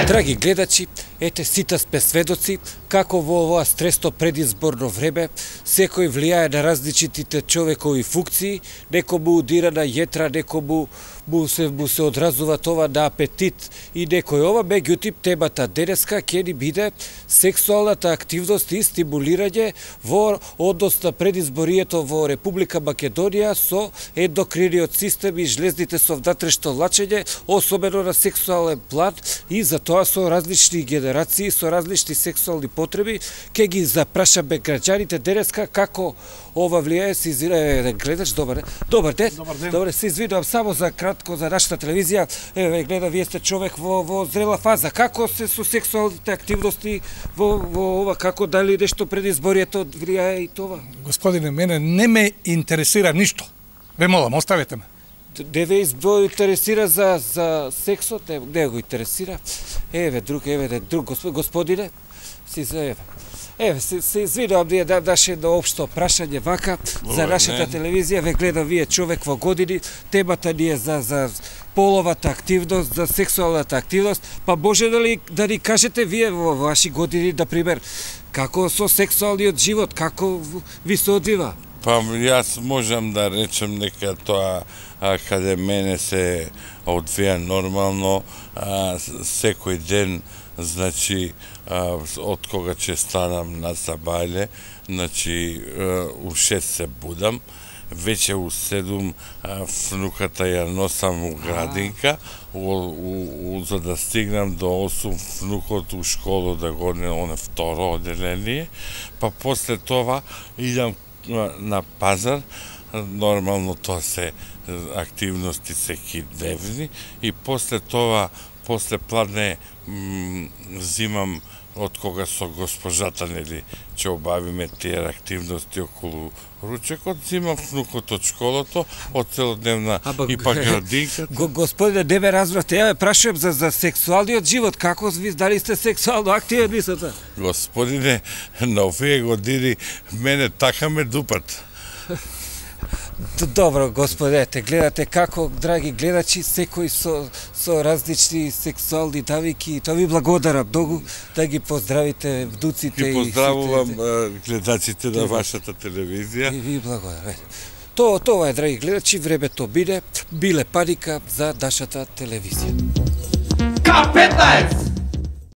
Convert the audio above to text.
Драги гледачи, ете сите сме сведоци како во ова стресно предизборно време секој влијае на различитите човекови функции, некому удира на јетра, некому му се одразува това на апетит и некој ова, меѓутоа темата денеска ќе ни биде сексуалната активност и стимулирање во однос на предизборието во Република Македонија со ендокриниот систем и жлезните со внатрешно лачење, особено на сексуален план и за тоа со различни генерации, со различни сексуални потреби, ќе ги запрашаме граѓаните денеска како ова влијае. Се извинувам, гледач, добар ден. Добар, се извинувам само за кратко за нашата телевизија. Еве гледа, вие сте човек во зрела фаза. Како се со сексуалните активности во ова, како дали нешто предизборието влијае и това? Господине, мене не ме интересира ништо. Ве молам, оставете ме. Не ве интересира за сексот, не го интересира. Еве друг господине, еве се извинувам, ние наше едно општо прашање вака за нашата телевизија. Ве гледа, вие човек во години, темата ни е за половата активност, за сексуалната активност, па може да ни кажете вие во ваши години, например, како со сексуалниот живот, како ви се одвива? Па јас можам да речем дека тоа каде мене се одвија нормално секој ден, значи од кога ќе станам на сабајле, значи у 6 се будам, веќе у 7 внуката ја носам у градинка, за да стигнам до 8 внукот у школу да го оне второ оделение, па после това идам на пазар, нормално тоа се активности секидневни и после тоа, после пладне зимам од кога со госпожата нели ќе обавиме тие активности околу ручекот, зимам внукот од школото, од целодневна и па градинката. Господине, не ме разбрате, ја прашувам за сексуалниот живот, како ви дали сте сексуално активен, мислите? Господине, на овие години мене така ме дупат. Добро, господете, гледате како, драги гледачи, секој со различни сексуални навики. Тоа ви благодарам многу, да ги поздравите вдуците. Ги поздравувам гледачите на вашата телевизија. И ви благодарам. Тоа е, драги гледачи, времето биде, биле паника за нашата телевизија. К15!